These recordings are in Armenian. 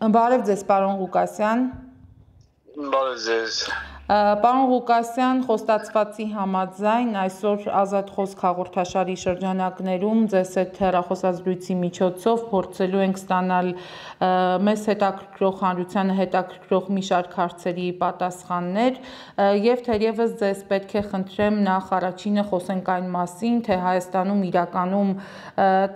Բարև ձեզ, պարոն Ղուկասյան։ Բարև ձեզ։ Պարոն Ղուկասյան, խոստացվածի համաձայն այսօր ազատ խոսք հաղորդաշարի շրջանակներում ձեզ հետ հեռախոսազրույցի միջոցով փորձելու ենք ստանալ մեզ հետաքրքրող հանրությանը հետաքրքրող մի շարք հարցերի պատասխաններ եւ թերևս ձեզ պետք է խնդրեմ նախ առաջինը խոսենք այն մասին, թե Հայաստանում իրականում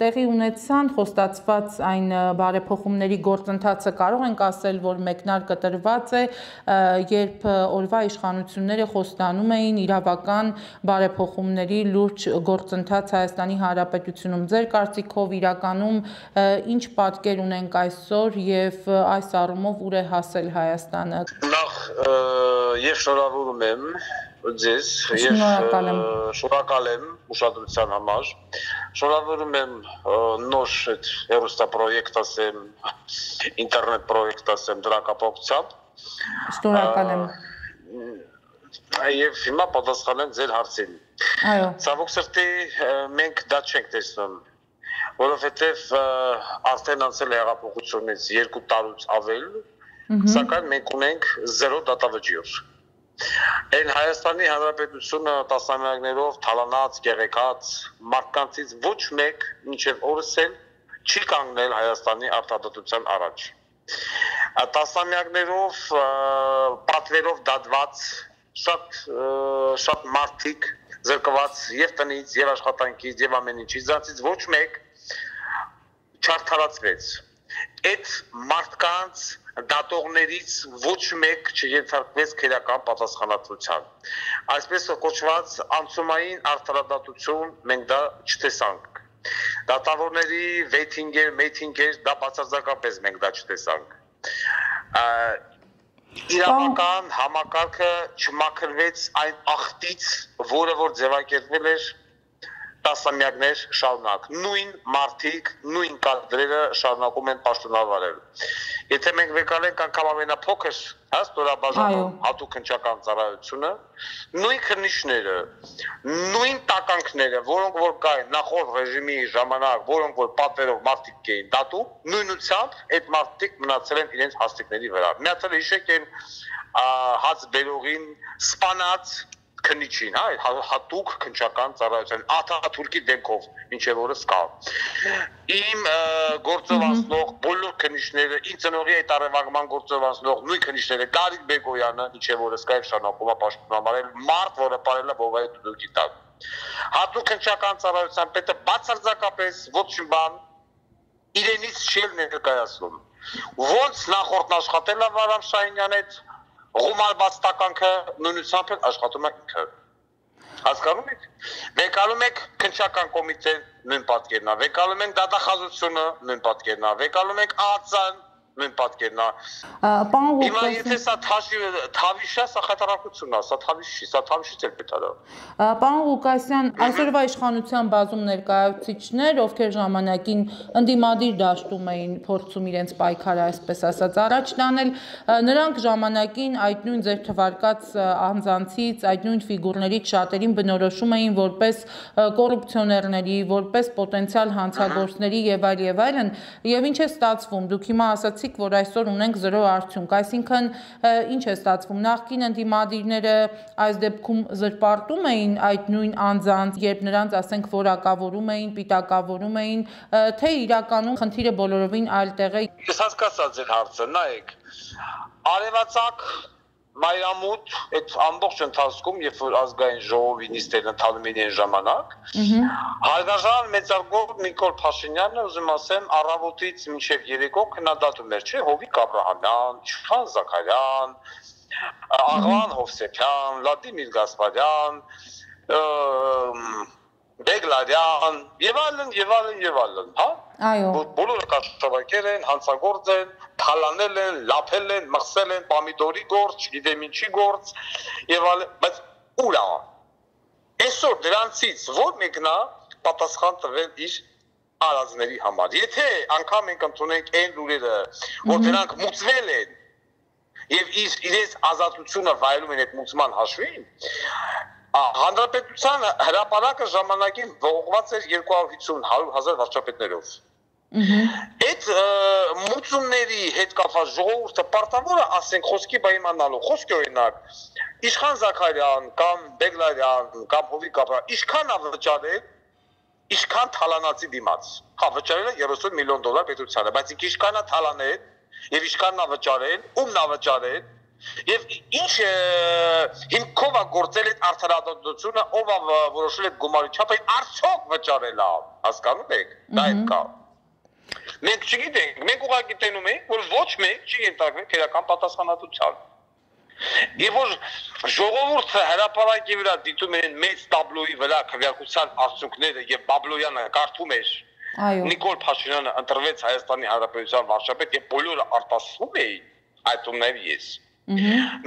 տեղի ունեցան խոստացված այն բարեփոխումների գործընթացը կարող ենք ասել, որ մեկնարկը տրված է, երբ օրվա իշխանությունները խոստանում էին իրավական բարեփոխումների լուրջ գործընթաց Հայաստանի Հանրապետությունում։ Ձեր կարծիքով իրականում ինչ պատկեր ունենք այսօր եւ այս առումով ուր է հասել Հայաստանը։ Նախ ես շնորհավորում եմ ձեզ եւ շնորհակալ եմ ուշադրության համար։ Շնորհավորում եմ նոր այդ հեռուստապրոյեկտ ասեմ, ինտերնետ պրոյեկտ ասեմ դրա կապակցությամբ։ Շնորհակալ եմ։ Եվ հիմա պատասխանեմ ձեր հարցին։ Այո։ Ցավոք սրտի մենք դա չենք տեսնում, որովհետև արդեն անցել է հեղափոխությունից 2 տարուց ավել, սակայն մենք ունենք 0 դատավճիռ։ Այն Հայաստանի Հանրապետությունը տասնամյակներով թալանած, գեղեցած մարդկանցից ոչ մեկ մինչև օրս էլ չի կանգնել Հայաստանի արտադրության առաջ։ Տասնամյակներով պատվերով դատված շատ մարդիկ զրկված եւ տնից, եւ աշխատանքից, եւ ամեն ինչից, դրանցից ոչ մեկ չարթարացվեց։ Այդ մարդկանց դատողներից ոչ մեկ չենթարկվեց քրեական պատասխանատվության։ Այսպես կոչված անցումային արդարադատություն մենք դա չտեսանք։ Դատավորների վեյթինգեր, դա բացարձակապես մենք դա չտեսանք։ Իրավական համակարգը չմաքրվեց այն աղտից, որը որ ձևակերպվել էր տասնամյակներ շարունակ։ Նույն մարդիկ, նույն կադրերը շարունակում են պաշտոնավարել։ Եթե մենք վկայենք անգամ ամենափոքր ստորաբաժանում հատուկ հնչական ծառայությունը, նույն քննիչները, նույն տականքները, որոնք որ կային նախորդ ռեժիմի ժամանակ, որոնք որ պատվերով մարդիկ էին դատում, նույնությամբ այդ մարդիկ մնացել են իրենց հաստիկների վրա։ Միացել հիշեք են հաց բերողին սպանած քննիչին, հատուկ քննչական ծառայության Աթաթուրքի դեմքով մինչև օրս կա։ Իմ գործովանող բոլոր քննիչները, ինձ ծնողի այդ առևանգման գործովանող նույն քննիչները, Գարիկ Բեգոյանը մինչև օրս կա եւ շարունակում է պաշտպանվել մարդ, որը ապարել է բովայի դուդուկի տակ։ Հատուկ քննչական ծառայության պետը բացարձակապես ոչ մի բան իրենից չի ներկայացնում։ Ոնց նախորդն աշխատել է Վարամ Շահինյանի հետ Ղումարված տականքը նույնությամբ էլ աշխատում է ինքը։ Հասկանում եք։ Վեկալում եք քննչական կոմիտեն նույն պատկերն է, վեկալում ենք դատախազությունը նույն պատկերն է, վեկալում ենք ԱԱԾ-ն նույն պատկերն է։ Հիմա եթե սա թավիշ է, սա խայտարակություն է, սա թավիշ չի, սա թավիշից էլ պետք է։ Պարոն Ղուկասյան, այսօրվա իշխանության բազում ներկայացուցիչներ, ովքեր ժամանակին ընդդիմադիր դաշտում էին փորձում իրենց պայքարը, այսպես ասած, առաջ տանել, նրանք ժամանակին այդ նույն ձեր թվարկած անձանցից, այդ նույն ֆիգուրներից շատերին բնորոշում էին որպես կոռուպցիոներների, որպես պոտենցիալ հանցագործների եւ այլն, եւ ինչ է ստացվում, դուք հիմա ասացիք, որ այսօր ունենք 0 արդյունք, այսինքն ինչ է ստացվում, նախկին ընդդիմադիրները այս դեպքում զրպարտում էին այդ նույն անձանց, երբ նրանց ասենք որակավորում էին, պիտակավորում էին, թե իրականում խնդիրը բոլորովին այլ տեղ է։ Ես հասկացա ձեր հարցը, նայեք, արևածագ Մայրամուտ այդ ամբողջ ընթացքում, երբ որ ազգային ժողովի նիստերն ընթանում էին այն ժամանակ, հարգարժան մեծարգո Նիկոլ Փաշինյանը, ուզում ասեմ, առավոտից մինչև երեկո քննադատում էր, չէ՞, Հովիկ Աբրահամյան, Իշխան Զաքարյան, Աղվան Հովսեփյան, Վլադիմիր Գասպարյան, Բեգլարյան, եւ այլն, հա։ Այո։ Բոլորը կաշառակեր են, հանցագործ են, թալանել են, լափել են, մխսել են, պամիդորի գործ, չգիտեմ ինչի գործ, եւ այլն, բայց ուր է։ Այսօր դրանցից որ մեկն է պատասխան տվել իր արածների համար։ Եթե անգամ մենք ընդունենք այն լուրերը, որ դրանք մուծվել են եւ իրենց ազատությունը վայելում են այդ մուծման հաշվին, Հանրապետության հրապարակը ժամանակին ողողված էր 250-100 հազար վարչապետներով։ Այդ մուծումների հետ կապված ժողովուրդը պարտավոր է ասենք խոսքի պայմանալու խոսքի օրինակ Իշխան Զաքարյան կամ Բեգլարյան կամ Հովիկ Աբրահամյան ինչքան վճարել Ինչքան թալանացի դիմաց հա վճարել է 30 միլիոն դոլար պետությանը բայց ինչքան է թալանել եւ ինչքան է վճարել ումն է վճարել եւ ինչ հիմքով է գործել այդ արդարադատությունը ով է որոշել այդ գումարի չափը արդյոք վճարել է հասկանում եք դա է կա մենք չգիտենք մենք ուղղակի տենում ենք որ ոչ մեկ չի ենթարկվել քերական պատասխանատվության Եվ որ ժողովուրդը հրապարակի վրա դիտում են մեծ տաբլոյի վրա քվեարկության արդյունքները եւ Բաբլոյանը կարդում էր Նիկոլ Փաշինյանը ընտրվեց Հայաստանի Հանրապետության վարչապետ եւ բոլորը արտասվում էին այդ ումների ես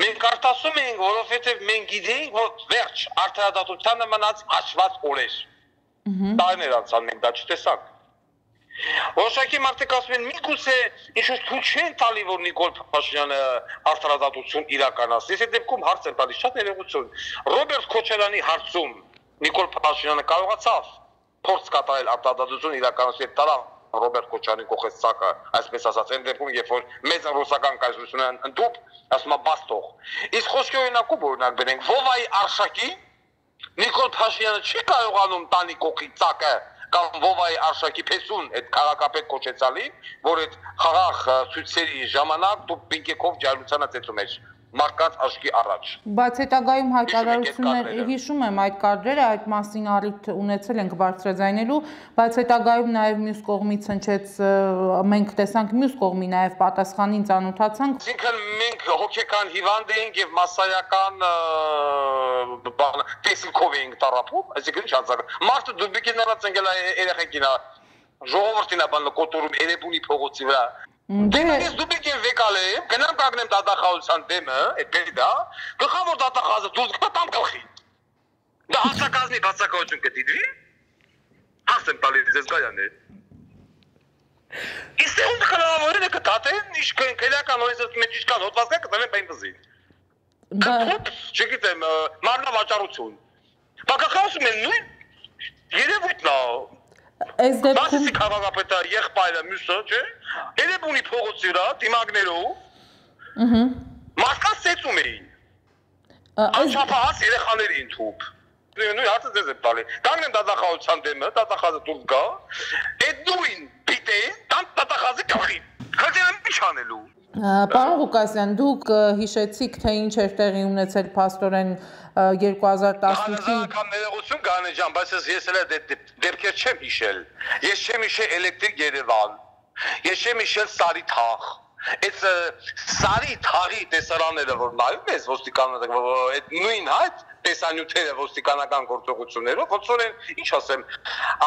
Մենք արտասում ենք որովհետեւ մենք գիտենք որ վերջ արդարադատությանը մնաց հաշված օրեր Տարիներ անցան մենք դա չտեսանք Որոշակի մարդիկ ասում են միգուցե ինչ-որ ցույց չեն տալի որ Նիկոլ Փաշինյանը արդարադատություն իրականացնի։ Այս դեպքում հարց են տալիս շատ ներողություն։ Ռոբերտ Քոչարյանի հարցում Նիկոլ Փաշինյանը կարողացավ փորձ կատարել արդարադատություն իրականացնել տարավ Ռոբերտ Քոչարյանի կողքից ցակը, այսպես ասած, այն դեպքում երբ որ մեծ ռուսական կայսրությունը ընդդուպ, ասում է բաստող։ Իսկ խոսքի օրինակ բերենք Վովայի արշակի Նիկոլ Փաշինյանը չի կարողանում տանի կողքի ցակը կամ Վովայի արշակի փեսուն այդ քաղաքապետ կոչեցալի, որ այդ խաղաղ ցույցերի ժամանակ դու պինկեքով ջարուցանը ծեծում ես մարդկանց աչքի առաջ։ Բայց հետագայում հայտարարություններ հիշում եմ այդ կադրերը, այդ մասին առիթ ունեցել ենք բարձրաձայնելու, բայց հետագայում նաև մյուս կողմից հնչեց մենք տեսանք մյուս կողմի նաև պատասխանին ծանոթացանք։ Այսինքն մենք հոգեկան հիվանդ ենք եւ մասսայական տեսիքով ենք տարապում, այսինքն չանցակ։ Մարդը դուբիկիներած ընկել է երեխեքին, ժողովրդին է բանը կոտորում Երևանի փողոցի վրա։ Դե դուբիկ եմ վեկալ եմ, գնամ կանգնեմ դատախազության դեմը, այդպես դա, գլխավոր դատախազը դուրս կտամ գլխի։ Դա հասարակազմի բացակայություն կդիտվի։ Հասեմ տալիս ձեզ գայաներ։ Իսկ ում կլավորին է կտատեն, իշքան քելական օրենսի մեջ իշքան հոդվածներ կտանեն բենզին։ Դա չգիտեմ, մարմնավաճառություն։ Բակախոսում են նույն երևույթն է։ Այս դեպքում քաղաքապետը եղբայրը մյուսը, չէ՞։ Երևանի փողոցի վրա դիմակներով մարդկանց ծեծում էին։ Անչափահաս երեխաներին թուփ։ Նույն հարցը ձեզ եմ տալի։ Կանգնեմ դատախազության դեմը, դատախազը դուրս գա։ Այդ նույն պիտե տան դատախազի գլխին։ Հաջորդ ինչ անելու։ Պարոն Ղուկասյան, դուք հիշեցիք, թե ինչ էր տեղի ունեցել փաստորեն 2018-ին ներողություն Գանե ջան, բայց ես էլ դեպքեր չեմ հիշել։ Ես չեմ հիշել Էլեկտրիկ Երևան։ Ես չեմ հիշել Սարի թաղ։ Այդ Սարի թաղի տեսարանները որ նայում ես ոստիկանները, այդ նույն հայտ տեսանյութերը ոստիկանական գործողություններով, ոնց որ ինչ ասեմ,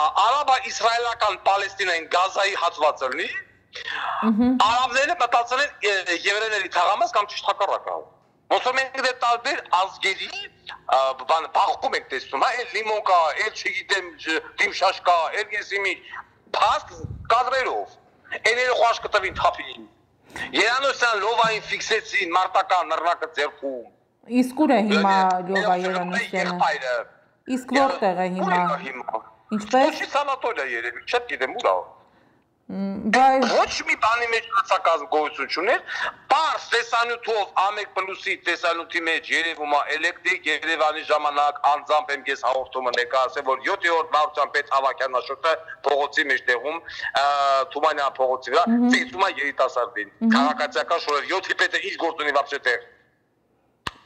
արաբա-իսրայելական Պալեստինային Գազայի հատվածը լինի, արաբները մտածել են եվրեների թաղամաս կամ ճիշտ հակառակը։ Ոնց որ մենք դե տարբեր ազգերի բախում ենք տեսնում, այլ լիմոկա, այլ չգիտեմ, դիմշաշկա, այլ եսիմի փաստ կադրերով։ Էները խոշ կտվին թափին։ Երանոսյան լովային ֆիքսեցին մարտական նռնակը ձեռքում։ Իսկ ուր է հիմա Լովա Երանոսյանը։ Իսկ որտեղ է հիմա։ Ինչպես։ Ոչ սանատորիա երևի, չգիտեմ ուր է։ Բայց ոչ մի բանի մեջ լծակազմ գոյություն չուներ, պարզ տեսանյութով A1+-ի տեսանյութի մեջ երևում է Էլեկտրիկ Երևանի ժամանակ անձամբ եմ ես հաղորդումը ներկայացրել, որ 7-րդ վարչության պետ Ավագյան Աշոտը փողոցի մեջտեղում Թումանյան փողոցի վրա ծեծում է երիտասարդին։ Քաղաքացիական շորեր 7-ի պետը ինչ գործ ունի вообще տեղ։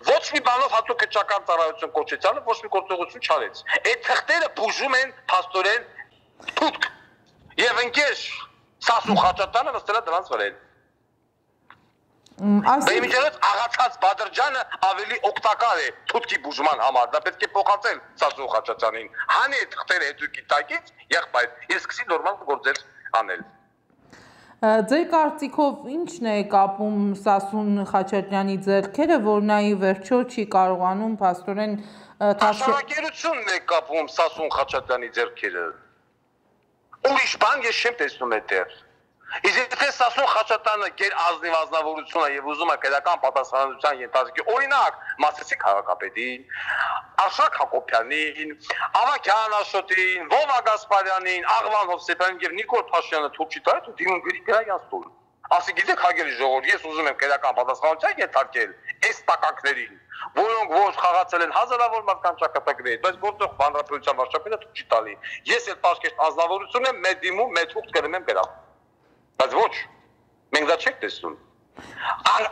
Ոչ մի բանով հատուկ քչական ծառայություն կոչեցանը ոչ մի գործողություն չարեց։ Այդ թղթերը բուժում են փաստորեն թուտք եւ ընկեր Սասուն Խաչատանը նստել է դրանց վրան։ Բեմիջերից աղացած Բադրջանը ավելի օգտակար է թուտքի բուժման համար, դա պետք է փոխանցել Սասուն Խաչատյանին։ Հանի այդ թղթերը հետուկի տակից եղբայր, ես սկսի նորմալ գործեր անել։ Ձեր կարծիքով ի՞նչն է կապում Սասուն Խաչատրյանի ձեռքերը, որ նա ի վերջո չի կարողանում փաստորեն Աշխարհակերությունն է կապում Սասուն Խաչատրյանի ձեռքերը։ Ուրիշ բան ես չեմ տեսնում այդտեղ։ Իսկ թե Սասուն Խաչատյանը գեր ազնիվ ազնվորությունը եւ ուզում է քրական պատասխանատվության ենթարկի, օրինակ, Մասիսի քաղաքապետին, Արշակ Հակոբյանին, Ավագյան Աշոտին, Վովա Գասպարյանին, Աղվան Հովսեփյանին եւ Նիկոլ Փաշյանը թուրքի տայր ու դիմում գրի գրայանց տուն։ Ասի գիտեք հագելի ժողովուրդ, ես ուզում եմ քրական պատասխանատվության ենթարկել այս տակակներին, որոնք ոչ խաղացել են հազարավոր մարդկանց ճակատագրեր, բայց որտեղ բանրապետության վարչապետը թույլ չի տալի։ Ես էլ պաշտպան ազնվորություն եմ, մեր դիմում մեր թուղթ կրեմ եմ գրավ։ Բայց ոչ, մենք դա չենք տեսնում։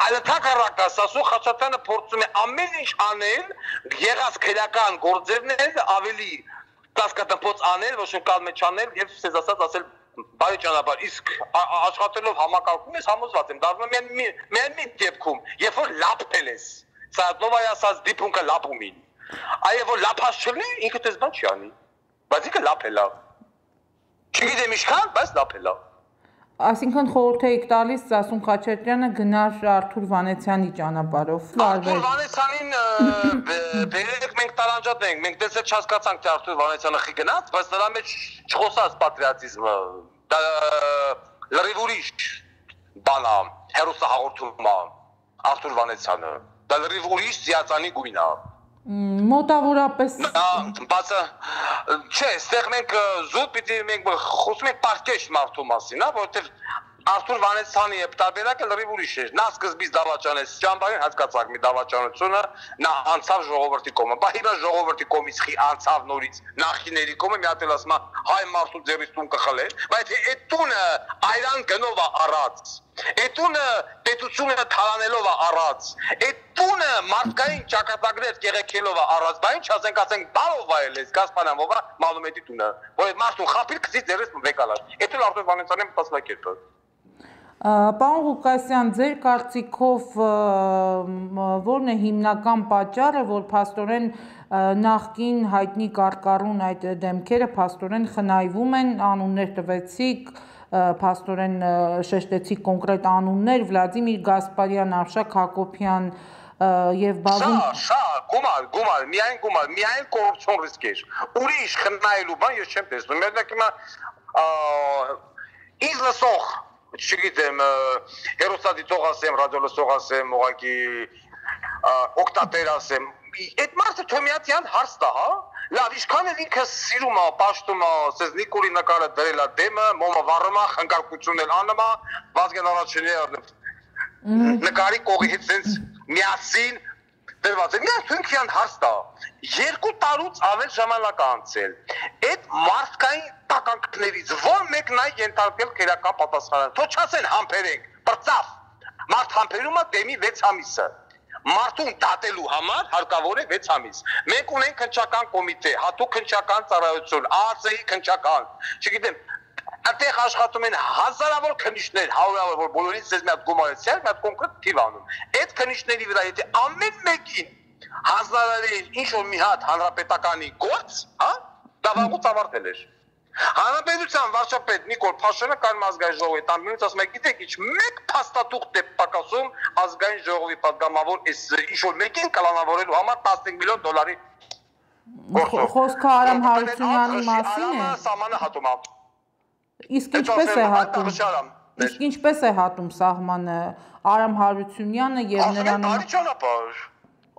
Այլթակառակը Սասուն Խաչատյանը փորձում է ամեն ինչ անել, եղած քրական գործերները ավելի կասկածապոծ անել, ոչ մի կալ մեջ անել եւ ցեզ ասել բարի ճանապարհ, իսկ աշխատելով համակարգում ես համոզված եմ, դառնում եմ մի դեպքում, երբ որ լապել ես, Սայաթովայի ասած դիպունքը լապումին, այո որ լապած չլինի, ինքը դες բան չի անի, բայց ինքը լապել է, չգիտեմ ինչքան, բայց լապել է։ Այսինքն խորհուրդ եք տալիս Սասուն Խաչատրյանը գնար Արթուր Վանեցյանի ճանապարհով։ Արթուր Վանեցյանին բերեք մենք տարանջատենք, մենք դες չհասկացանք թե Արթուր Վանեցյանը խի գնաց, բայց նրա մեջ չխոսած պատրիոտիզմը, դա լրիվ ուրիշ բան է, հերոսահաղորդում է Արթուր Վանեցյանը, դա լրիվ ուրիշ զիացանի գույն է։ Մոտավորապես բացը չէ, այստեղ մենք զուտ պիտի մենք խոսում ենք պարկեշտ մարդու մասին, հա, որովհետև Արթուր Վանեցյանի տարբերակը լրիվ ուրիշ էր։ Նա սկզբից դավաճանեց ճամբարին, հասկացաք մի դավաճանությունը, նա անցավ ժողովրդի կողմը։ Բա հիմա ժողովրդի կողմից խի անցավ նորից նախիների կողմը, մի հատ էլ ասում է հայ մարդու ձեռից տուն կխլել, բայց այդ տունը այրան գնով է առած։ Այդ տունը պետությունը թալանելով է առած։ Այդ տունը մարդկային ճակատագրեր կեղեքելով է առած։ Բա ինչ ասենք բարով այլես Գասպարյան ովա Մալումետի տունը, որ մարդուն խափիր քցի ձեռից վեկալար։ Այդ էլ Արթուր Վանեցյանի մտածելակերպը։ Պարոն Ղուկասյան, ձեր կարծիքով որն է հիմնական պատճառը, որ փաստորեն նախկին հայտնի կարկառուն այդ դեմքերը փաստորեն խնայվում են, անուններ տվեցիք, փաստորեն շեշտեցիք կոնկրետ անուններ, Վլադիմիր Գասպարյան, Արշակ Հակոբյան եւ բազում գումար, միայն կոռուպցիոն ռիսկեր։ Ուրիշ խնայելու բան ես չեմ տեսնում։ Մենակ հիմա ինձ լսող չգիտեմ, հերոստատիտող ասեմ, ռադիոլսող ասեմ, ուղղակի օկտատեր ասեմ, այդ մարդը Թոմյատյան հարց տա, հա? Լավ, ինչքան էլ ինքը սիրում է, պաշտում է, ասես Նիկոլի նկարը դրել է դեմը, մոմը վառում է, խնկարկություն էլ անում է, Վազգեն Արաչինյանը նկարի կողի հետ sense միասին դրված է։ Մի Թունքյան հարց տա, 2 տարուց ավել ժամանակ անցել։ Այդ մարդկային տականքներից ո՞ր մեկն է ենթարկել քրական պատասխանատվության։ Թող չասեն համբերենք, բրծավ։ Մարդ համբերում է դեմի 6 ամիսը։ Մարդուն դատելու համար հարկավոր է 6 ամիս։ Մենք ունենք քննչական կոմիտե, հատուկ քննչական ծառայություն, ԱԱՑ-ի քննչական։ Չգիտեմ, այդտեղ աշխատում են հազարավոր քննիչներ, հարյուրավոր, որ բոլորից ձեզ մի հատ գումարեցիք, մի հատ կոնկրետ թիվ անում։ Այդ քննիչների վրա եթե ամեն մեկին հանձնարարել ինչ-որ մի հատ հանրապետականի գործ, հա, դա վաղուց ավարտել էր։ Հանրապետության վարչապետ Նիկոլ Փաշյանը կայուն ազգային ժողովի տանբինից ասում է, գիտեք ինչ, մեկ փաստաթուղթ է պակասում ազգային ժողովի պատգամավոր այս ինչ-որ մեկին կլանավորելու համար 15 միլիոն դոլարի գործով։ Խոսքը Արամ Հարությունյանի մասին է։ Սահմանը հատում է։ Իսկ ինչպես է հատում սահմանը Արամ Հարությունյանը եւ նրան բարի ճանապարհ։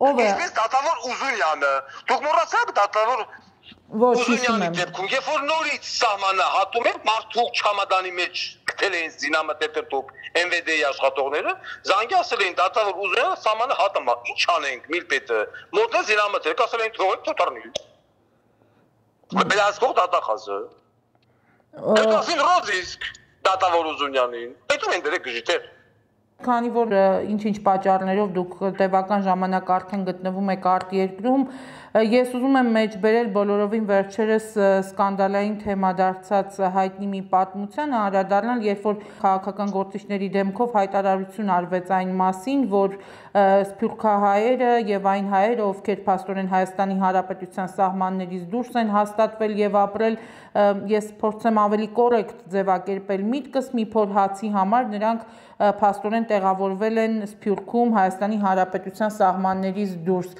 Ով է։ Ինչպես դատավոր Ուզունյանը։ Դուք մոռացաք դատավոր Ոչ, հիշում եմ։ Երբ որ նորից սահմանը հատում են, մարդու չամադանի մեջ գտել էին զինամթերքով MVD-ի աշխատողները, զանգի ասել էին դատավոր Ուզունյանը սահմանը հատում է։ Ինչ անենք, միլպետը։ Մոդել զինամթերք ասել էին թողեք թոթարնի։ Բելասկող դատախազը։ Դասին ռոզիսկ դատավոր Ուզունյանին։ Պետք է դրեք գժիտեր։ Քանի որ ինչ-ինչ պատճառներով դուք տևական ժամանակ արդեն գտնվում եք արտերկրում, ես ուզում եմ մեջբերել բոլորովին վերջերս սկանդալային թեմա դարձած հայտնի մի պատմության անդրադառնալ, երբ որ քաղաքական գործիչների դեմքով հայտարարություն արվեց այն մասին, որ սփյուռքահայերը եւ այն հայերը, ովքեր փաստորեն Հայաստանի Հանրապետության սահմաններից դուրս են հաստատվել եւ ապրել, ես փորձեմ ավելի կոռեկտ ձևակերպել միտքս, մի փոր հացի համար նրանք փաստորեն տեղավորվել են Սփյուռքում Հայաստանի Հանրապետության սահմաններից դուրս։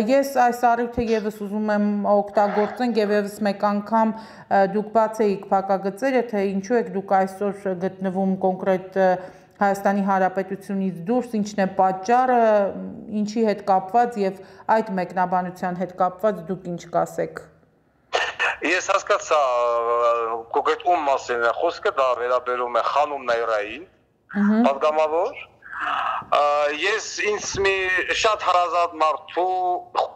Ես այս առիթ խորհուրդը եւս ուզում եմ օգտագործենք եւ եւս մեկ անգամ դուք բացեիք փակագծերը, թե ինչու եք դուք այսօր գտնվում կոնկրետ Հայաստանի Հանրապետությունից դուրս, ինչն է պատճառը, ինչի հետ կապված եւ այդ մեկնաբանության հետ կապված դուք ինչ կասեք։ Ես հասկացա կոնկրետ ում մասին է խոսքը, դա վերաբերում է Խանոմ Նայրային, պատգամավոր։ Ես ինձ մի շատ հարազատ մարդու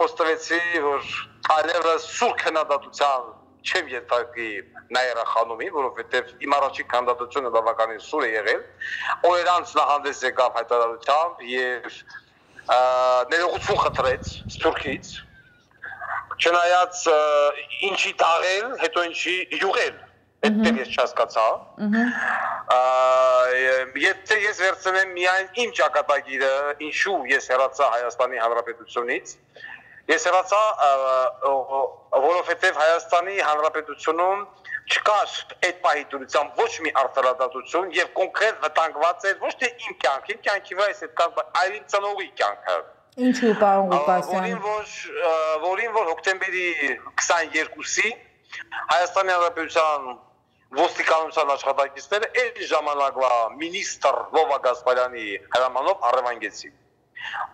խոստովեցի, որ այլևս սուր քննադատության չեմ ենթարկի Նայրա Խանոմին, որովհետև իմ առաջին քննադատությունը բավականին սուր է եղել, օրեր անց նա հանդես եկավ հայտարարությամբ եւ ներողություն խնդրեց Սփյուռքից, չնայած ինչի տաղել, հետո ինչի յուղել, այդտեղ ես չհասկացա։ Եթե ես վերցնեմ միայն իմ ճակատագիրը, ինչու ես հեռացա Հայաստանի Հանրապետությունից, ես հեռացա, որովհետև Հայաստանի Հանրապետությունում չկար այդ պահի դուրսությամբ ոչ մի արտարադատություն եւ կոնկրետ վտանգված էր ոչ թե իմ կյանքի վրա այս այլ իմ ծնողի կյանքը։ Ինչու, պարոն Ղուկասյան։ Որին որ հոկտեմբերի 22-ին Հայաստանի Հանրապետության ոստիկանության աշխատակիցները այդ ժամանակվա մինիստր Լովա Գասպարյանի հրամանով առևանգեցին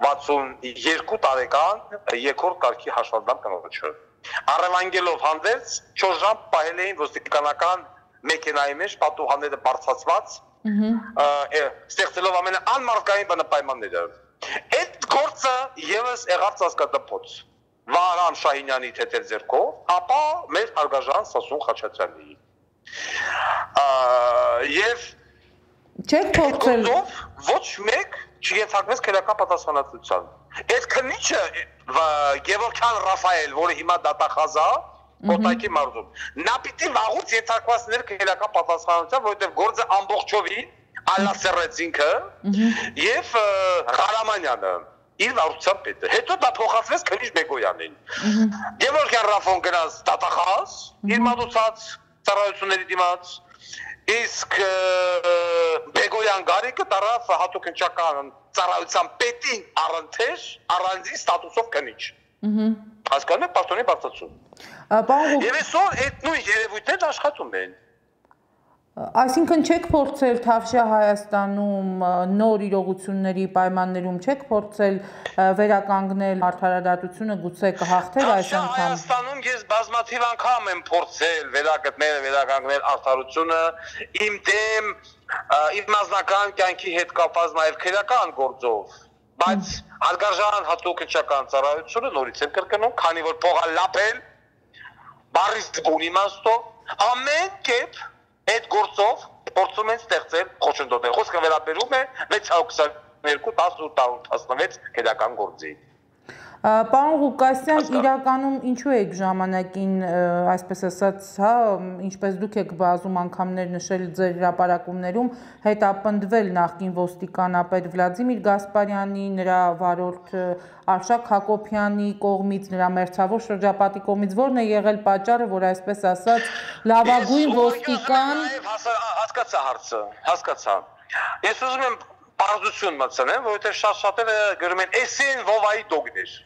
62 տարեկան երկրորդ կարգի հաշվանդամ կնոջը։ Առևանգելով հանդերձ 4 ժամ պահել էին ոստիկանական մեքենայի մեջ պատուհանները բարձրացված, ստեղծելով ամենաանմարդկային բնապայմանները։ Այդ գործը եւս եղավ ծածկադպոց Վահրամ Շահինյանի թեթև ձեռքով, ապա մեր հարգաժան Սասուն Խաչատրյանի։ Եվ չեք փորձել ոչ մեկ չգեթակվեց քրեական պատասխանատվության։ Այդ քննիչը Գևորգյան Ռաֆայել, որը հիմա դատախազա Կոտայքի մարզում, նա պիտի վաղուց եթակվածներ քրեական պատասխանատվության, որովհետև գործը ամբողջովին ալասերեց ինքը եւ Ղարամանյանը իր վարչության պետը։ Հետո դա փոխանցվեց քննիչ Բեգոյանին։ Գևորգյան Ռաֆոն գնաց դատախազ, իր մատուցած ծառայությունների դիմաց, իսկ Բեգոյան Գարիկը դարավ հատուկ ընչական ծառայության պետին առընթեր առանձին ստատուսով քննիչ։ Հասկանում եք պաշտոնի բարձրացում։ Եվ այսօր այդ նույն երևույթները աշխատում են։ Այսինքն չեք փորձել Թավշյա Հայաստանում նոր իրողությունների պայմաններում չեք փորձել վերականգնել արդարադատությունը, գուցե կհաղթեր այս անգամ։ Հայաստանում ես բազմաթիվ անգամ եմ փորձել վերականգնել արդարությունը իմ դեմ իմ անձնական կյանքի հետ կապված նաև քրեական գործով, բայց հարգարժան հատուկ ընչական ծառայությունը նորից եմ կրկնում, քանի որ փողա լապել բարիս բուն իմաստով ամեն կերպ այդ գործով փորձում են ստեղծել խոչընդոտներ։ Խոսքը վերաբերում է 622-1816 քրեական գործի։ Պարոն Ղուկասյան, իրականում ինչու եք ժամանակին, այսպես ասած, հա, ինչպես դուք եք բազում անգամներ նշել ձեր հրապարակումներում, հետապնդվել նախկին ոստիկանապետ Վլադիմիր Գասպարյանի, նրա վարորդ Արշակ Հակոբյանի կողմից, նրա մերձավոր շրջապատի կողմից, որն է եղել պատճառը, որ այսպես ասած լավագույն ոստիկան։ Հասկացա հարցը, հասկացա։ Ես ուզում եմ բարձություն մտցնեմ, որովհետև շատ-շատերը գրում են «Էսին Վովայի դոգներ»։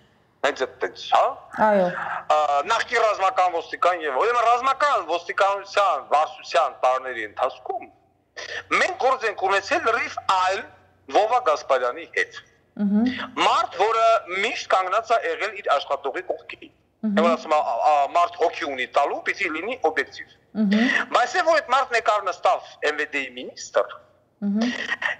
Հենց այդպես, հա։ Այո։ Նախկին ռազմական ոստիկան եւ ուրեմն ռազմական ոստիկանության վարչության տարիների ընթացքում մենք գործ ենք ունեցել լրիվ այլ Վովա Գասպարյանի հետ։ Մարդ, որը միշտ կանգնած է եղել իր աշխատողի կողքին։ Եվ ասում մարդ հոգի ունի տալու, պիտի լինի օբյեկտիվ։ Բայց որ այդ մարդն եկավ նստավ MVD-ի մինիստր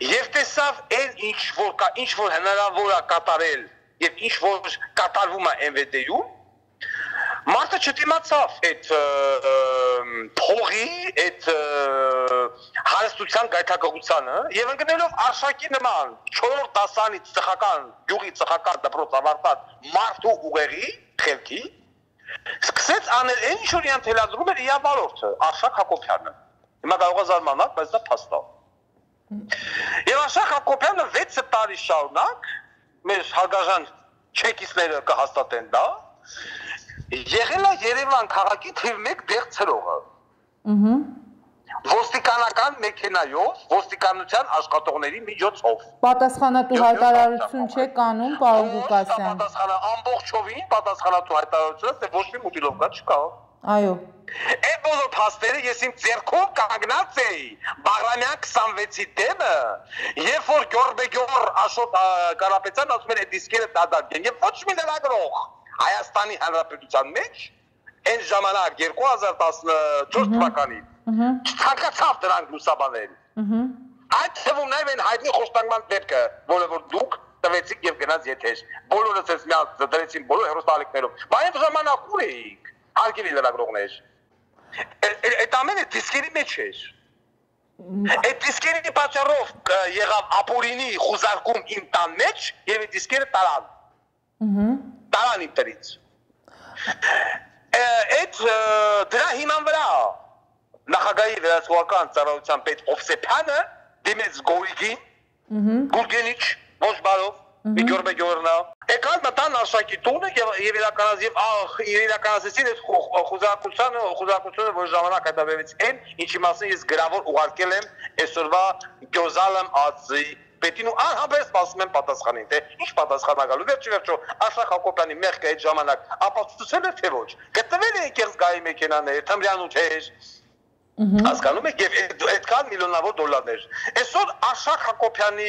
եւ տեսավ այն ինչ որ հնարավոր է կատարել եւ ինչ որ կատարվում է MVD-ում, մարդը չդիմացավ այդ փողի, այդ հարստության գայթակղությանը եւ ընկնելով Արշակի նման 4 դասանից ծխական, գյուղի ծխական դպրոց ավարտած մարդու ուղեղի խելքի սկսեց անել այն ինչ որ իրան թելադրում էր իր վարորդը Արշակ Հակոբյանը։ Հիմա կարող է զարմանալ, բայց դա փաստ է։ Եվ Արշակ Հակոբյանը 6 տարի շարունակ մեր հարգարժան չեկիստները կհաստատեն դա, եղել է Երևան քաղաքի թիվ 1 դեղ ցրողը։ ոստիկանական մեքենայով, ոստիկանության աշխատողների միջոցով։ Պատասխանատու հայտարարություն չէ կանում, պարոն Ղուկասյան։ Ամբողջովին պատասխանատու հայտարարությունը, թե ոչ մի մուտիլովկա չկա։ Այո։ Այդ բոլոր փաստերը ես իմ ձեռքով կանգնած էի Բաղրամյան 26-ի դեմը, երբ որ Գյորբեգյոր Աշոտ Կարապետյան ասում էր այդ դիսկերը դադարեն, եւ ոչ մի լրագրող Հայաստանի Հանրապետության մեջ այն ժամանակ 2014 թվականին չթանկացավ դրանք լուսաբանել։ Այդ թվում նաև այն հայտնի խոստանգման դեպքը, որը որ դուք տվեցիք եւ գնաց եթեր։ Բոլորը ցես միած դրեցին բոլոր հերոստալիկներով։ Բայց ժամանակ ուր էիք։ Արգելի լրագրողներ։ Այդ ամենը դիսկերի մեջ էր։ Այդ դիսկերի պատճառով եղավ ապօրինի խուզարկում իմ տան մեջ եւ այդ դիսկերը տարան։ Տարան ինտերից։ Այդ դրա հիման վրա նախագահի վերահսկողական ծառայության պետ Օվսեփյանը դիմեց Գորիգին, Գուրգենիչ, ոչ բարով, Գյորբեգյորնա։ Եկան մտան Արշակի տունը եւ իրականացրեցին այդ խուզարկությունը, որ ժամանակ հետաբերվեց այն, ինչի մասին ես գրավոր ուղարկել եմ այսօրվա Գյոզալեմ ԱԾ-ի պետին ու անհամբեր սպասում եմ պատասխանին, թե ինչ պատասխան ակալու։ Վերջո Աշխարհ Հակոբյանի մեղքը այդ ժամանակ ապացուցել էր թե ոչ։ Գտնվել է կեղծգահի մեքենաներ, թմրանյութեր, հասկանում եք, եւ այդքան միլիոնավոր դոլարներ։ Այսօր Աշխարհ Հակոբյանի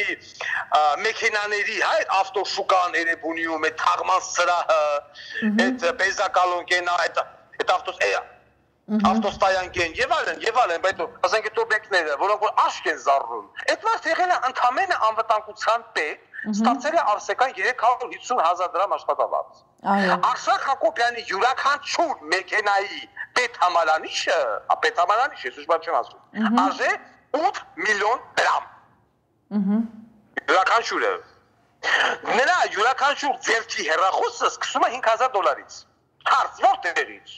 մեքենաների, այդ ավտոշուկան Էրեբունիում, այդ թաղման սրահը, այդ Պեզակալոնկենա, այդ ավտոստայանքեն եւ այլն, բայց ասենք այդ օբյեկտները, որոնք որ աշկ են զառնում, այդ մասը եղել է ընդամենը անվտանգության պետ, ստացել է Արսեկան 350,000 դրամ աշխատավարձ։ Աշխարհ Հակոբյանի յուրաքանչյուր մեքենայի պետհամարանիշը, ես ուժ չեմ ասում, արժե 8 միլիոն դրամ։ Յուրաքանչյուրը։ Նրա յուրաքանչյուր ձեռքի հեռախոսը սկսում է $5,000-ից։ Հարց որտեղից։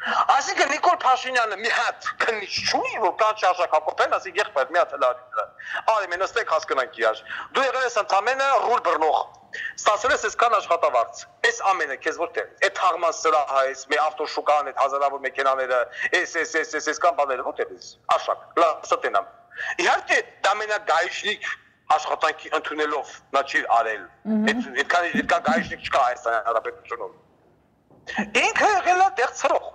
Այսինքն Նիկոլ Փաշինյանը մի հատ քննիչ չունի, որ կան Աշխարհ Հակոբյան, ասի եղբայր մի հատ հլարի։ Արի մենք նստենք հասկանանք իրար։ Դու եղել ես ընդամենը ռուլ բռնող։ Ստացել ես այսքան աշխատավարձ։ Այս ամենը քեզ որտեղ։ Այդ թաղման սրահը, այս մի ավտոշուկան, այդ հազարավոր մեքենաները, այսքան բաները որտեղ ես։ Աշխարհ, լավ, ստենամ։ Իհարկե դա մենագայշնիկ աշխատանքի ընդունելով նա չի արել։ Այդքան գայշնիկ չկա Հայաստանի Հանրապետությունում։ Ինքը եղել է դեղցրող։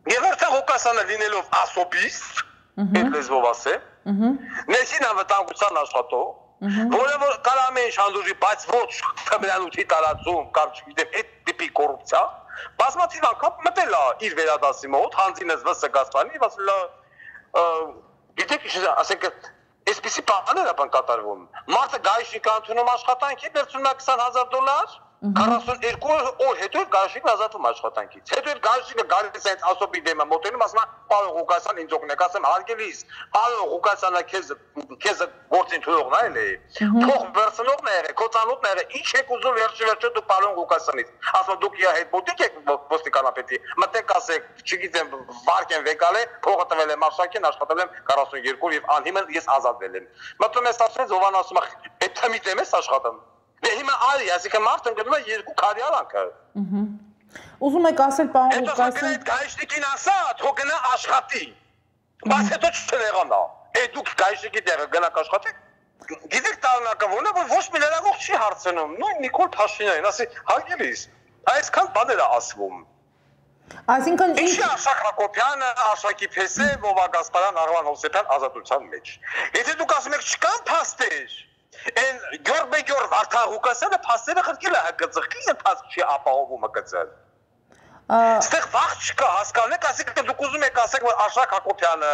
Գևերթա Ղուկասյանը լինելով ասոբիստ, այդ լեզվով ասեմ, ներքին անվտանգության աշխատող, որը որ կարող ամեն ինչ հանդուրժի, բայց ոչ թմրանյութի տարածում կամ չգիտեմ այդ տիպի կոռուպցիա, բազմաթիվ անգամ մտել է իր վերադասի մոտ, հանձինս վսը Գասպարյանի, ասել գիտեք ինչ ասենք այսպիսի բաներ են կատարվում։ Մարդը գայշնիկ ընդունում աշխատանքի, վերցնում է $20,000, 42 օր հետո գայշնիկն ազատվում աշխատանքից։ Հետո այդ գայշնիկը գալիս է այդ ասոբի դեմը մոտենում, ասում է պարոն Ղուկասյան ինձ օգնեք, ասեմ հարգելիս, պարոն Ղուկասյանը քեզ գործին թողողն է էլի։ Թող վերցնողն է եղել, քո ծանոթն է եղել, ինչ եք ուզում վերջը դու պարոն Ղուկասյանից։ Ասում դուք իր հետ մոտիկ եք ոստիկանապետի, մտեք ասեք, չգիտեմ, վարկ են վեկալ է, փողը տվել եմ Արշակին, աշխատել եմ 42 եւ անհիմն ես ազատվել եմ։ Մտնում ես ասում Զովան ասում է, այդ թմի դեմ ես աշխատում։ Դե հիմա արի, այսինքն մարդը ընկնում է երկու քարի արանքը։ Ուզում եք ասել պարոն Ղուկասյան։ Այդ գայշնիկին ասա, թող գնա աշխատի։ Բայց հետո չցնեղանա։ Այդ դուք գայշնիկի տեղը գնաք աշխատեք։ Գիտեք տարանակը ո՞րն է, որ ոչ մի լրագրող չի հարցնում։ Նույն Նիկոլ Փաշինյանին, ասի, հարգելիս, այսքան բաներ է ասվում։ Այսինքն ինչ է Աշխարհ Հակոբյանը, Արշակի Փեսե, Վովա Գասպարյան, Արման Հովսեփյան ազատության մեջ։ Եթե դուք ասում եք չկան փաստեր, այն Գյորբեգյոր Վարդան Ղուկասյանը փաստերը խրկել է ՀԿՑ-ի, ինքը փաստ չի ապահովում ՀԿՑ-ը։ Այստեղ վաղ չկա, հասկանում եք, ասեք դուք ուզում եք ասեք, որ Աշխարհ Հակոբյանը,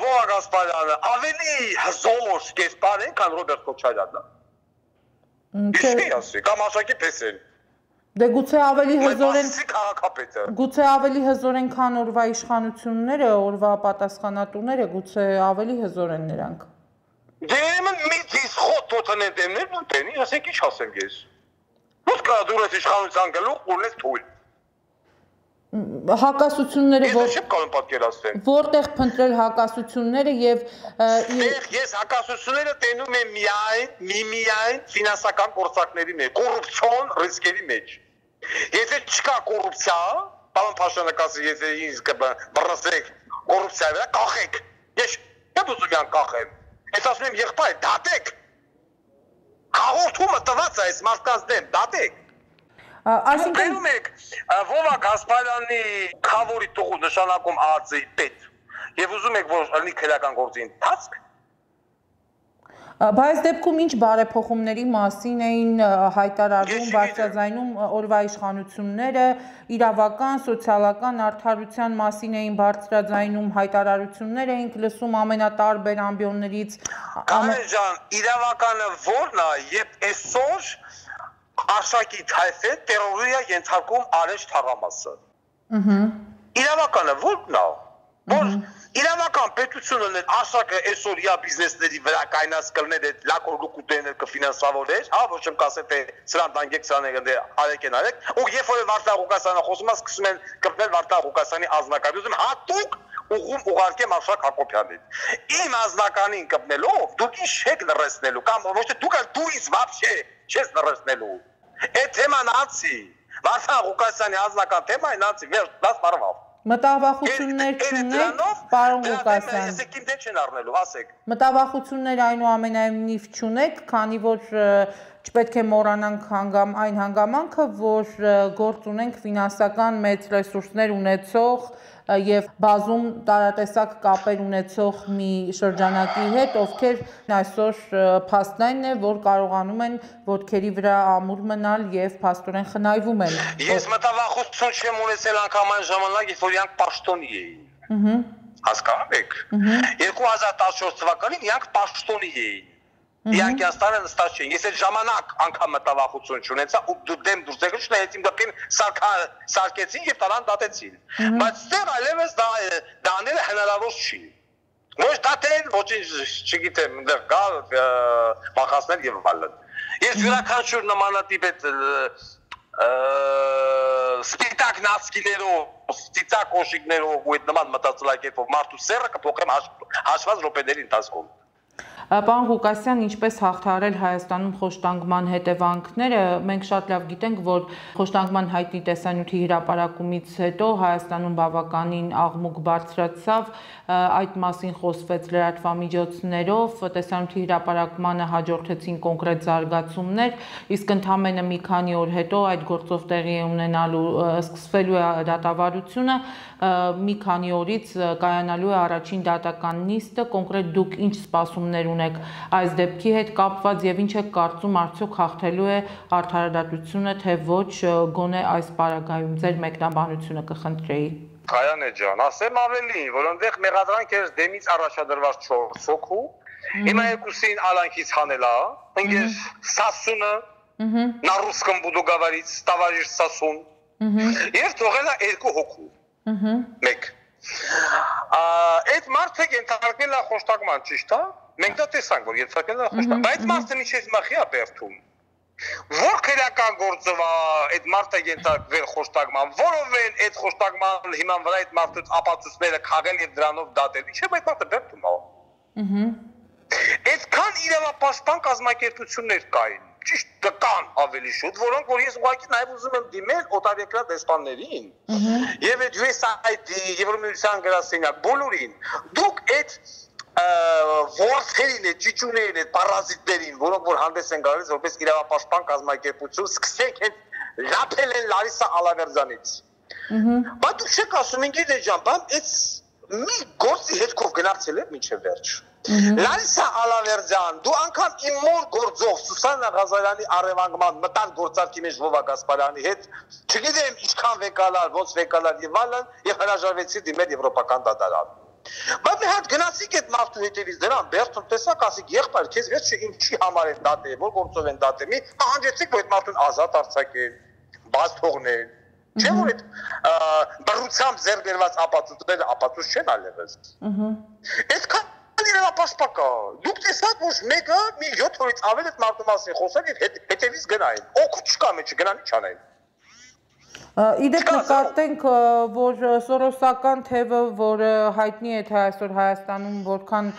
Վովա Գասպարյանը ավելի հզոր կերպար են, քան Ռոբերտ Քոչարյանը։ Ինչի՞ ասի, կամ Արշակի Փեսեն։ Դե գուցե ավելի հզոր են քաղաքապետը։ Գուցե ավելի հզոր են, քան օրվա իշխանությունները, օրվա պատասխանատուները, գուցե ավելի հզոր են նրանք։ Դե մի դիս խոտ ոտնեն դեմներ ուտենի, ասեք ինչ ասեմ ես։ Ո՞ւր կա դու ես իշխանության գլուխ ունես թույլ։ Հակասությունները Ես չեմ կարող պատկերացնել։ Որտեղ փնտրել հակասությունները եւ ես հակասությունները տենում եմ միայն ֆինանսական գործակների մեջ, կոռուպցիոն ռիսկերի մեջ։ Եթե չկա կոռուպցիա, Պարոն Փաշինյանը եթե ինձ կբռնցեք կոռուպցիայի վրա կախեք։ Ես չեմ ուզում յան կախեմ։ Ես ասում եմ եղբայր, դատեք։ Հաղորդումը տված է այս մարդկանց դեմ, դատեք։ Այսինքն Վովա Գասպարյանի խավորի տողու նշանակում ԱԱԾ-ի պետ։ Եվ ուզում եք որ լինի քրեական գործի ընթացք։ Բայց դեպքում ինչ բարեփոխումների մասին էին հայտարարում, բարձրաձայնում օրվա իշխանությունները, իրավական, սոցիալական արդարության մասին էին բարձրաձայնում, հայտարարություններ էինք լսում ամենատարբեր ամբիոններից։ Կարեն ջան, իրավականը ո՞րն է, երբ այսօր Աշակիտ Հայֆե տերորի է ենթարկում Արեշ Թաղամասը։ Իրավականը ո՞րն է, որ իրավական պետությունը Աշակը այսօր իր բիզնեսների վրա կայնած կլներ այդ լակորգուտեներ կֆինանսավորեր, հա, ոչ եմ կասեմ թե սրան դանգեք սրաները արեք են արեք, ու երբ որ Վարդան Ղուկասյանը խոսում է, սկսում են կրկնել Վարդան Ղուկասյանի ազնականին, ուզում հատուկ ուղում ուղարկեմ Արշակ Հակոբյանին։ Իմ ազնականին կպնելով դուք ինչ չեք լրացնելու կամ ոչ թե դուք դու ինձ вообще չես լրացնելու։ Այդ թեման անցի։ Վարդան Ղուկասյանի ազնական թեման անցի, վերջ 10 տարվա։ Մտավախություններ չունեք, պարոն Ղուկասյան։ Ես եք չեն առնելու, ասեք։ Մտավախություններ այնուամենայնիվ չունեք, քանի որ չպետք է մոռանանք այն հանգամանքը, որ գործ ունենք ֆինանսական մեծ ռեսուրսներ ունեցող եւ բազում տարատեսակ կապեր ունեցող մի շրջանակի հետ, ովքեր այսօր փաստն է, որ կարողանում են ոտքերի վրա ամուր մնալ եւ փաստորեն խնայվում են։ Ես մտավախություն չեմ ունեցել անգամ այն ժամանակ, երբ որ իրանք պաշտոնի էին։ Հասկանում եք։ 2014 թվականին իրանք պաշտոնի էին։ Իրանք աստանը նստած չէին։ Ես այդ ժամանակ անգամ մտավախություն չունեցա ու դեմ դուրս եկա, չնայած իմ դեպքին սարկեցին եւ տարան դատեցին։ Բայց ստեղ այլևս դաները հնարավոր չի։ Ոչ դատեն, ոչինչ չգիտեմ, այնտեղ գալ բախասներ եւ այլն։ Ես յուրաքանչյուր նմանատիպ այդ սպիտակ նացկիներով, ծիծակ օշիկներով ու այդ նման մտածելակերպով մարդու սերը կփոխեմ հաշված րոպեների ընթացքում։ Պարոն Ղուկասյան, ինչպես հաղթահարել Հայաստանում խոշտանգման հետևանքները, մենք շատ լավ գիտենք, որ խոշտանգման հայտնի տեսանյութի հրապարակումից հետո Հայաստանում բավականին աղմուկ բարձրացավ, այդ մասին խոսվեց լրատվամիջոցներով, տեսանյութի հրապարակմանը հաջորդեցին կոնկրետ զարգացումներ, իսկ ընդամենը մի քանի օր հետո այդ գործով տեղի ունենալու սկսվելու է դատավարությունը, մի քանի օրից կայանալու է առաջին դատական նիստը, կոնկրետ դուք ինչ սպասումներ ունեք այս դեպքի հետ կապված եւ ինչ եք կարծում արդյոք հաղթելու է արդարադատությունը թե ոչ գոնե այս պարագայում ձեր մեկնաբանությունը կխնդրեի։ Կայանե ջան, ասեմ ավելին, որ այնտեղ մեղադրանք էր դեմից առաջադրված 4 հոգու, հիմա երկուսին ալանքից հանել է, ընկեր Սասունը, на русском буду говорить, товарищ Сасун, եւ թողել է 2 հոգու։ Մեկ։ Այդ մարդը ենթարկվել է խոշտակման, ճիշտ է։ Մենք դա տեսանք, որ ենթարկվել է խոշտակման, բայց մարդը միջև մախի է բերթում։ Որ քրեական գործով է այդ մարդը ենթարկվել խոշտակման, որովեն այդ խոշտակման հիման վրա այդ մարդու ապացույցները քաղել եւ դրանով դատել։ Ինչե՞ այդ մարդը բերթում է։ Այդքան իրավապաշտպան կազմակերպություններ կային։ Ճիշտ կան ավելի շուտ, որոնք որ ես ուղղակի նաև ուզում եմ դիմել օտարերկրյա դեսպաններին եւ այդ USAID, Եվրոմիության գրասենյակ բոլորին։ Դուք այդ ворթերին, ճիճուներին, այդ պարազիտներին, որոնք որ հանդես են գալիս որպես իրավապաշտպան կազմակերպություն, սկսեք այդ լափել են Լարիսա Ալավերձյանից։ Բայց դուք չեք ասում ինքն ջան, բայց այդ մի գործի հետքով գնացել է մինչև վերջ։ Լարիսա Ալավերձյան, դու անգամ իմ մոր գործով Սուսաննա Ղազարյանի առևանգման մտան գործարքի մեջ Վովա Գասպարյանի հետ, չգիտեմ ինչքան վեկալար, ոնց վեկալար եւ այլն, եւ հրաժարվեցի դիմել եվրոպական դատարան։ Բայց մի հատ գնացիք այդ մարդու հետևից դրան, բերթում տեսակ ասիք եղբայր, քեզ վերջը ինչի համար են դատել, որ գործով են դատել, մի հանջեցիք, որ այդ մարդուն ազատ արձակել, բաց թողնել։ Չէ՞ որ այդ բռնությամբ ձեռքերված ապացույցները ապացույց չեն այլևս։ Այդքան իրավապաշտպակա։ Դուք տեսաք, որ մեկը մի 7 օրից ավել այդ մարդու մասին խոսել եւ հետևից գնային։ Օգուտ չկա մեջը, գնան ինչ անեն։ Իդեպ նկատենք, որ սորոսական թևը, որը հայտնի է թե այսօր Հայաստանում որքան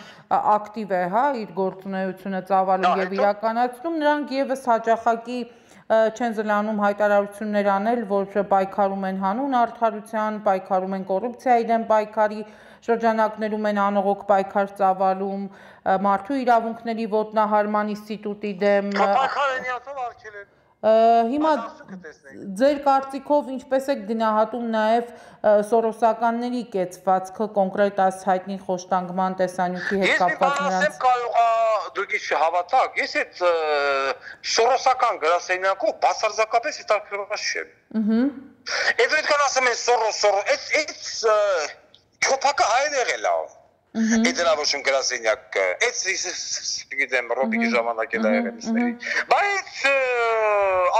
ակտիվ է, հա, իր գործունեությունը ծավալում եւ իրականացնում, նրանք եւս հաճախակի չեն զլանում հայտարարություններ անել, որ պայքարում են հանուն արդարության, պայքարում են կոռուպցիայի դեմ պայքարի շրջանակներում են անողոք պայքար ծավալում, մարդու իրավունքների ոտնահարման ինստիտուտի դեմ Հիմա ձեր կարծիքով ինչպես եք գնահատում նաև սորոսականների կեցվածքը կոնկրետ այս հայտնի խոշտանգման տեսանյութի հետ կապված նրանց դուք չհավատաք, ես այդ սորոսական գրասենյակով բացարձակապես հետաքրքրված չեմ։ Այդ այդքան ասում են սորո, այդ չոփակը հայեր եղել է։ Այդ դրավոշում գրասենյակ, այդ գիտեմ ռոբիկի ժամանակ էլ եղել է։ Բայց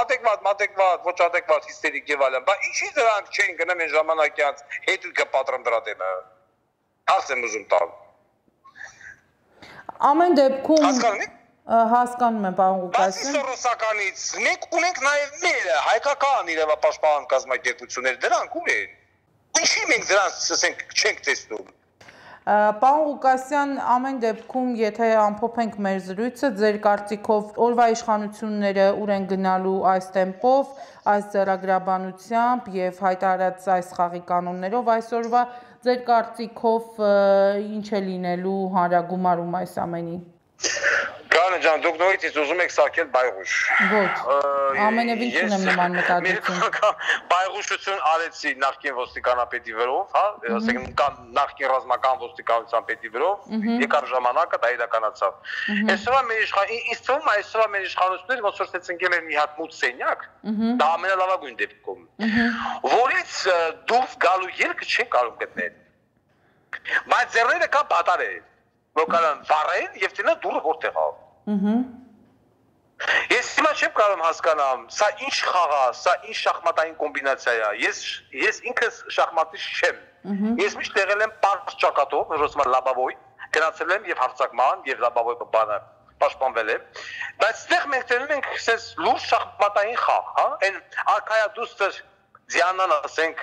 adekvat, ոչ adekvat հիստերիկ եւ այլն, բայց ինչի դրանք չեն գնում այն ժամանակյաց հետույքը պատրամ դրա դեմը։ Ասեմ ուզում տալ։ Ամեն դեպքում հասկանում եմ, պարոն Ղուկասյան։ Բացի սորոսականից, մենք ունենք նաև մերը, հայկական իրավապաշտպան կազմակերպություններ, դրանք ու են։ Ինչի մենք դրանց ասենք չենք տեսնում։ Պարոն Ղուկասյան, ամեն դեպքում, եթե ամփոփենք մեր զրույցը, ձեր կարծիքով օրվա իշխանությունները ուր են գնալու այս տեմպով, այս ձեռագրաբանությամբ եւ հայտարարած այս խաղի կանոններով այսօրվա ձեր կարծիքով ինչ է լինելու հանրագումարում այս ամենի։ Կանե ջան, դուք նորից ուզում եք սարքել բայղուշ։ Ոչ, ամենևին չունեմ նման մտադրություն։ Բայղուշություն արեցի նախկին ոստիկանապետի վրով, հա, ասենք նախկին ռազմական ոստիկանության պետի վրով, եկար ժամանակը դա իրականացավ։ Այսօր ինձ թվում է այսօր մեր իշխանությունները ոնց որ ցեցնկել են մի հատ մութ սենյակ, դա ամենալավագույն դեպքում, որից դուրս գալու ելքը չեն կարող գտնել։ Բայց ձեռները կան պատարել, որ կարան վառեն եւ տենա դուրը որտեղ ա։ Ես հիմա չեմ կարող հասկանամ, սա ինչ խաղ է, սա ինչ շախմատային կոմբինացիա է։ Ես ինքս շախմատիст չեմ։ Ես միշտ եղել եմ պարզ ճակատով, ռոսմա լաբավոյ, գնացել եմ եւ հարցակման եւ լաբավոյ բանը պաշտպանվել եմ։ Բայց այդտեղ մենք տենում ենք ասես լուրջ շախմատային խաղ, հա։ Այն արքայադուստր Ձյանան ասենք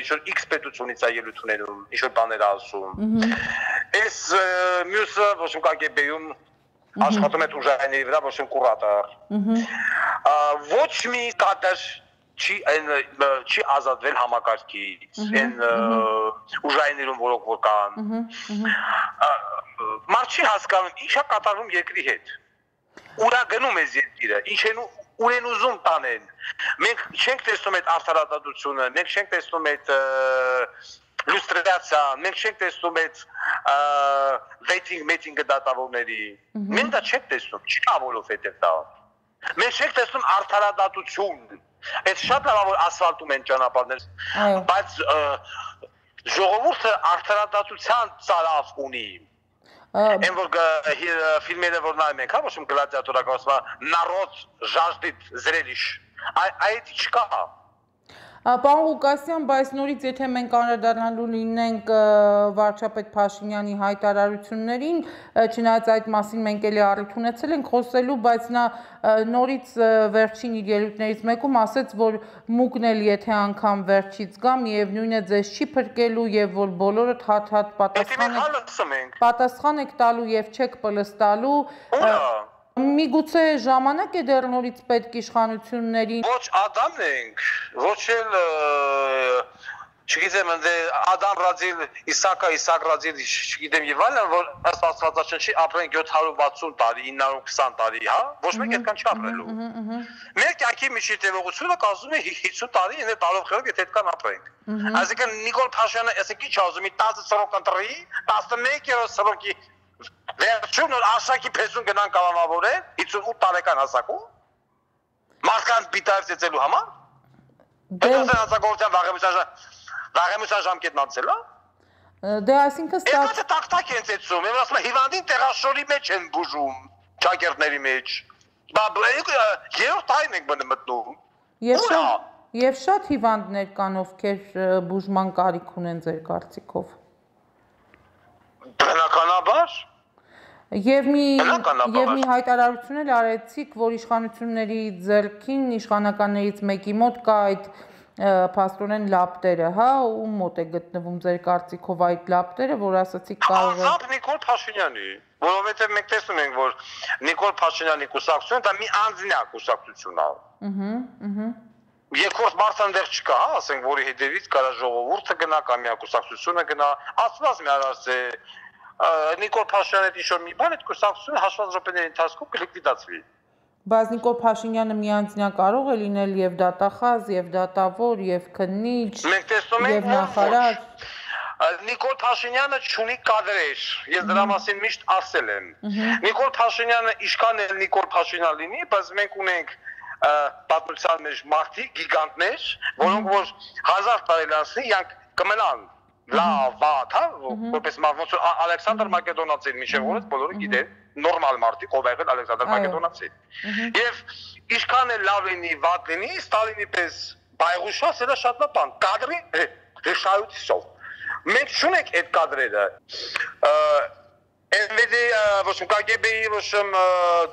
ինչ-որ X պետությունից է ելույթ ունենում, ինչ-որ բաներ ասում։ Այս մյուսը ոչ մի KGB-ում աշխատում է ուժայինների վրա, ոչ մի կուրատոր։ Ոչ մի կադր չի ազատվել համակարգից, այն ուժայիններում որոնք որ կան։ Մարդ չի հասկանում ինչ է կատարվում երկրի հետ։ Ուրա գնում է երկիրը, ուր են ուզում տանեն։ Մենք չենք տեսնում այդ արդարադատությունը, մենք չենք տեսնում այդ լուստրացիան, մենք չենք տեսնում այդ վեյթինգ դատավորների։ Մենք դա չենք տեսնում, չկա որովհետև դա։ Մենք չենք տեսնում արդարադատություն։ Այդ շատ լավ որ ասֆալտում են ճանապարհներ, բայց ժողովուրդը արդարադատության ծարավ ունի։ Այն որ ֆիլմերը որ նայում ենք, հա, ոչ մի գլադիատորական ասում է «Народ жаждет зрелищ», այդ չկա։ Պարոն Ղուկասյան, բայց նորից եթե մենք անդրադառնալու լինենք վարչապետ Փաշինյանի հայտարարություններին, չնայած այդ մասին մենք էլի առիթ ունեցել ենք խոսելու, բայց նա նորից վերջին իր ելույթներից մեկում ասաց, որ մուկն էլ եթե անգամ վերջից գա, միևնույն է ձեզ չի փրկելու եւ որ բոլորդ հատ-հատ պատասխան եք տալու եւ չեք պլստալու։ Միգուցե ժամանակ է դեռ նորից պետք իշխանություններին։ Ոչ Ադամն ենք, ոչ էլ չգիտեմ ընդ Ադամ Ռադիլ, Իսակ Ռադիլ, չգիտեմ եւ այլն, որ ըստ Աստվածաշնչի ապրեն 760 տարի, 920 տարի, հա, ոչ մեկ այդքան չապրելու։ Մեր կյանքի միջի տևողությունը կազմում է 50 տարի, ինձ տարով խելք եթե այդքան ապրենք։ Այսինքն Նիկոլ Փաշյանը ասեք ինչ ասում, 10 սրոք ընտրի, 11 սրոքի վերջում նոր ասակի փեսուն գնան կալանավորել 58 տարեկան հասակում մարդկանց բիտայով ծեծելու համար դա հասակողության վաղեմության ժամկետն անցել է դե այսինքն այդ տակտակ են ծեծում եւ ասում հիվանդին տեղաշորի մեջ են բուժում ճակերտների մեջ երրորդ տարին ենք մտնում եւ շատ հիվանդներ կան ովքեր բուժման կարիք ունեն ձեր կարծիքով բնականաբար Եվ մի հայտարարություն էլ արեցիք, որ իշխանությունների ձեռքին իշխանականներից մեկի մոտ կա այդ փաստորեն լապտերը, հա, ու մոտ է գտնվում ձեր կարծիքով այդ լապտերը, որ ասացիք կարող է Անձամբ Նիկոլ Փաշինյանի, որովհետև մենք տեսնում ենք, որ Նիկոլ Փաշինյանի կուսակցությունը դա մի անձնյա կուսակցություն է։ Երկրորդ մարդը այնտեղ չկա, հա, ասենք, որի հետևից կարա ժողովուրդը գնա կամ միակուսակցությունը գնա, ասված մի արարս է Նիկոլ Փաշինյանի ինչ-որ մի բան, այդ կուսակցությունը հաշված րոպեների ընթացքում կլիկվիդացվի։ Բայց Նիկոլ Փաշինյանը միանձնյա կարող է լինել եւ դատախազ, եւ դատավոր, եւ քննիչ, Մենք տեսնում ենք, եւ նախարար։ Նիկոլ Փաշինյանը չունի կադրեր, ես դրա մասին միշտ ասել եմ։ Նիկոլ Փաշինյանը ինչքան էլ Նիկոլ Փաշինյան լինի, բայց մենք ունենք պատմության մեջ մարդիկ, գիգանտներ, որոնք որ 1000 տարի լանցնի, իրանք կմնան լավ, վատ, հա, որպես ոնց Ալեքսանդր Մակեդոնացին, միշտ որից բոլորը գիտեն, նորմալ մարդիկ, ով եղել Ալեքսանդր Մակեդոնացին։ Եվ ինչքան էլ լավ լինի, վատ լինի, Ստալինի պես բայղուշա, սա շատ լավ բան, կադրի հեշայությունով։ Մենք չունենք այդ կադրերը։ NVD, ոչ KGB-ի ոչ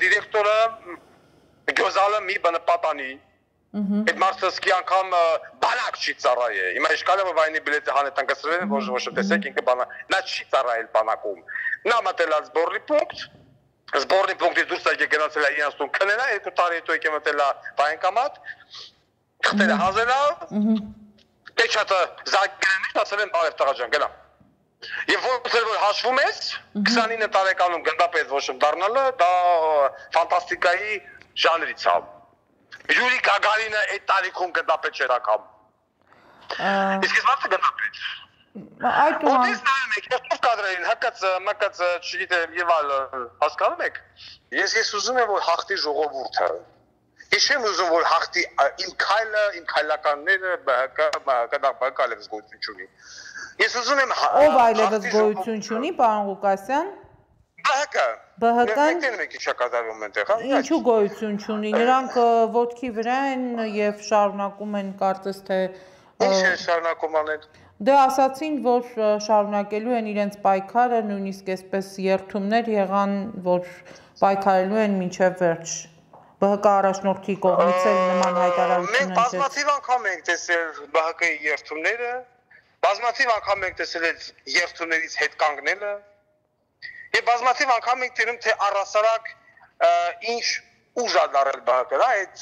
դիրեկտորը Գյոզալը մի բանը պատանի, այդ մարդը սկի անգամ բանակ չի ծառայե, հիմա իշկալը որ վայնի բիլետը հանետան կսրվել են, ոչ տեսեք ինքը բանակ, նա չի ծառայել բանակում, նա մտել է զբորնի պունկտի դուրս եկե գնացել է իրանց տուն քնելա, 2 տարի հետո եկե մտել է բանկոմատ, խտել է հազելա, պեչատը զանգերենի, ասել են բարև տղա ջան, գնա։ Եվ որ հաշվում ես, 29 տարեկանում գնդապետ ոչ դառնալը, դա ֆանտաստիկայի ժանրից է։ Յուրի Գագարինը այդ տարիքում գնդապետ չէր ակամ։ Իսկ ես մարդը գնդապետ։ Այդ Ոդես նայում եք, ես կադրերին հակած չգիտեմ եւ այլ հասկանում եք։ Ես ուզում եմ որ հաղթի ժողովուրդը։ Ես չեմ ուզում որ հաղթի իմ քայլը, իմ քայլականները բակալ է զգոյություն չունի։ Ես ուզում եմ ով այլևս գոյություն չունի, պարոն Ղուկասյան։ ԲՀԿ-ն ինչու գոյություն չունի, նրանք ոտքի վրա են եւ շարունակում են կարծես թե Ինչ է շարունակում անեն։ Դե ասացին, որ շարունակելու են իրենց պայքարը, նույնիսկ այսպես երթումներ եղան, որ պայքարելու են մինչև վերջ։ ԲՀԿ առաջնորդի կողմից էլ նման հայտարարություն Մենք բազմաթիվ անգամ ենք տեսել ԲՀԿ-ի երթումները, բազմաթիվ անգամ ենք տեսել այդ երթումներից հետ կանգնելը, եւ բազմաթիվ անգամ ենք տենում, թե առասարակ ինչ ուժ է դարել ԲՀԿ-ը, այդ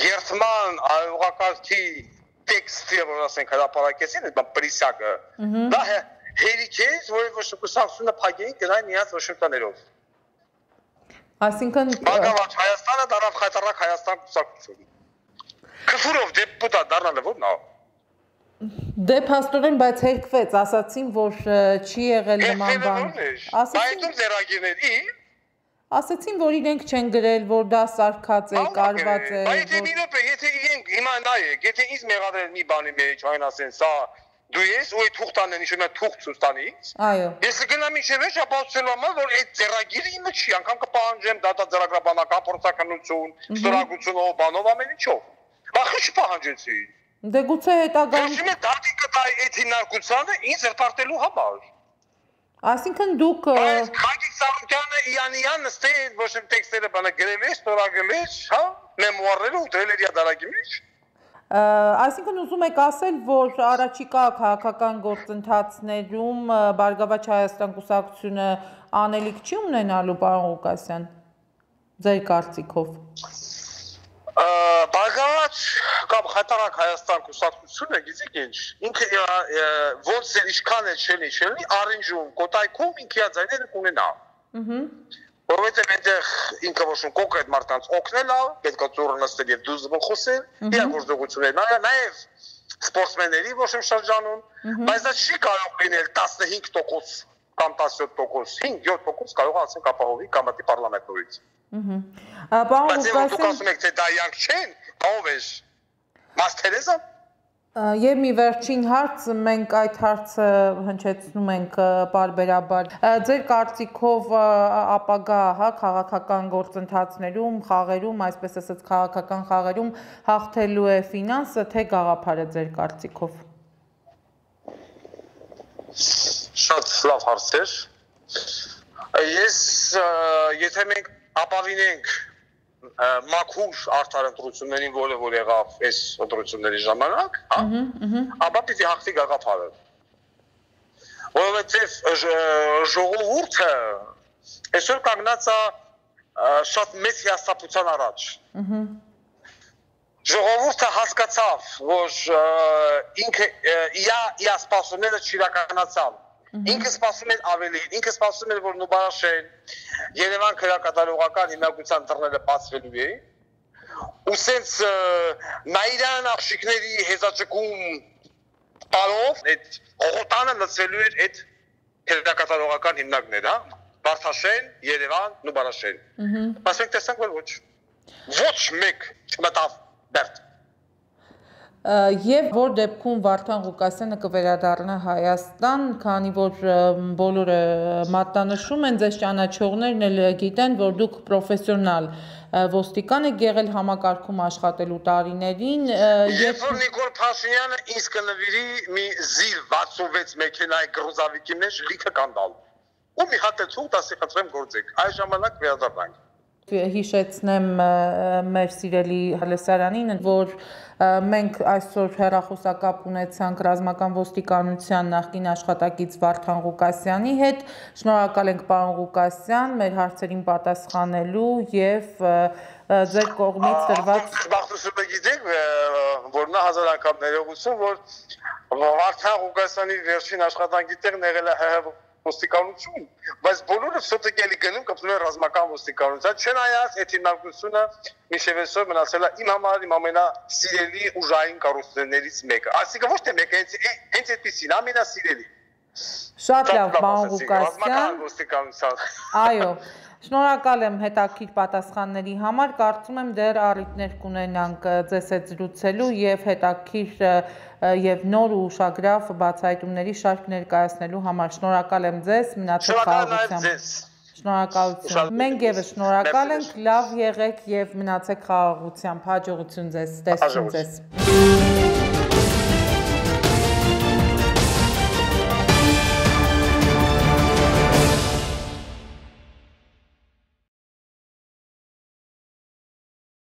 երթման ուղղակի տեքստը, որ ասենք հրապարակեցին, այդ պրիսակը, դա հերիք է, որը ոչ կուսակցությունը փակեին գնային իրաց Վաշինգտոներով։ Այսինքն Բարգավաճ Հայաստանը դարավ խայտարակ Հայաստան կուսակցություն։ Քֆուրով դեպուտատ դառնալը ո՞րն է։ Դե փաստորեն, բայց հերկվեց, ասացին, որ չի եղել նման բան։ Ասացին, որ իրենք չեն գրել, որ դա սարքած է, կարված է։ Բայց եթե իրենք հիմա նայեք, եթե ինձ մեղադրել մի բանի մեջ, այն ասեն, սա դու ես ու այդ թուղթանն են ինչ-որ թուղթ ցույց տանից։ Այո։ Ես կգնամ ինչ վերջ ապացուցելու համար, որ այդ ձեռագիրը իմը չի, անգամ կպահանջեմ դատաձեռագրաբանական փորձականություն, ստորագրությունով, բանով ամեն ինչով։ Բախի չպահանջեցի։ Դե գուցե հետագայում Ոչ մի դատի կտայի այդ հիմնարկությանը ինձ հրապարակելու համար։ Այսինքն դուք Բայց Խագիկ Սարոկյանը Իանյան նստել ոչ մի տեքստերը բանը գրել է, ստորագրել է, հա, մեմուարները ու դրել է դարակի մեջ։ Այսինքն ուզում եք ասել, որ առաջիկա քաղաքական գործընթացներում Բարգավաճ Հայաստան կուսակցությունը անելիք չի ունենալու, պարոն Ղուկասյան, ձեր կարծիքով։ Բարգավաճ կամ խայտարակ Հայաստան կուսակցությունը, գիտեք ինչ, ինքը ոնց է ինչքան է չելի, առինջում, կոտայքում ինքը ձայները կունենա։ Որովհետև այնտեղ ինքը ոչ մի կոնկրետ մարդկանց օգնել է, պետք է ծուռը նստել եւ դուզվում խոսել, իրագործողություններ, նաեւ սպորտսմենների ոչ մի շրջանում, բայց դա չի կարող լինել 15% կամ 17%, 5-7% կարող է ասենք ապահովի կամատի պարլամենտորից։ Բայց դուք ասում եք, թե դա իրանք չեն, ով է Մաս-Թերեզա։ Եվ մի վերջին հարց, մենք այդ հարցը հնչեցնում ենք պարբերաբար։ Ձեր կարծիքով ապագա, հա, քաղաքական գործընթացներում, խաղերում, այսպես ասած քաղաքական խաղերում հաղթելու է ֆինանսը, թե գաղափարը ձեր կարծիքով։ Շատ լավ հարց էր։ Ես եթե մենք ապավինենք մաքուր արդար ընտրություններին, որ եղավ այս ընտրությունների ժամանակ, հա, ապա պիտի հաղթի գաղափարը։ Որովհետև ժողովուրդը այսօր կանգնած է շատ մեծ հիասթափության առաջ։ Ժողովուրդը հասկացավ, որ ինքը իր սպասումները չիրականացան։ Ինքը սպասում էր ավելին, ինքը սպասում էր, որ Նուբարաշեն Երևան քրակատարողական հիմնադրության դռները բացվելու է։ Ու սենց նայրան աղջիկների հեզաճկում տալով այդ օղոտանը լցվելու էր այդ քրակատարողական հիմնարկները, հա։ Վարդաշեն, Երևան, Նուբարաշեն։ Բայց մենք տեսանք, որ ոչ մեկ չմտավ դեռ։ Եվ որ դեպքում Վարդան Ղուկասյանը կվերադառնա Հայաստան, քանի որ բոլորը մատնանշում են, ձեզ ճանաչողներն էլ գիտեն, որ դուք պրոֆեսիոնալ ոստիկան եք եղել համակարգում աշխատելու տարիներին։ Երբ որ Նիկոլ Փաշինյանը ինձ կնվիրի մի զիլ 66 մեքենայի գրոզավիկի մեջ լիքը կանդալ։ Ու մի հատ էլ ցույց ասի խնդրեմ գործեք։ Այս ժամանակ վերադառնանք։ Հիշեցնեմ մեր սիրելի հալեսարանին, որ մենք այսօր հեռախոսակապ ունեցանք ռազմական ոստիկանության նախկին աշխատակից Վարդան Ղուկասյանի հետ։ Շնորհակալ ենք պարոն Ղուկասյան մեր հարցերին պատասխանելու եւ ձեր կողմից տրված Բախտությունը գիտեք, որ նա հազար անգամ ներողություն, որ Վարդան Ղուկասյանի վերջին աշխատանքի տեղն եղել է ՀՀ ոստիկանություն, բայց բոլորը սոտիկ էլի գնում կպնում են ռազմական ոստիկանության, չնայած այդ հիմնարկությունը մինչև այսօր մնացել է իմ համար իմ ամենասիրելի ուժային կառույցներից մեկը։ Այսինքն ոչ թե մեկը, հենց այդպեսին ամենասիրելի։ Շատ լավ, պարոն Ղուկասյան։ Ռազմական ոստիկանության։ Այո, շնորհակալ եմ հետաքրքիր պատասխանների համար, կարծում եմ դեռ առիթներ կունենանք ձեզ հետ զրուցելու եւ հետաքրքիր եւ նոր ու ուշագրավ բացահայտումների շարք ներկայացնելու համար։ Շնորհակալ եմ ձեզ, մնացեք խաղաղությամբ։ Շնորհակալություն։ Մենք եւս շնորհակալ ենք, լավ եղեք եւ մնացեք խաղաղությամբ։ Հաջողություն ձեզ, տեսնենք ձեզ։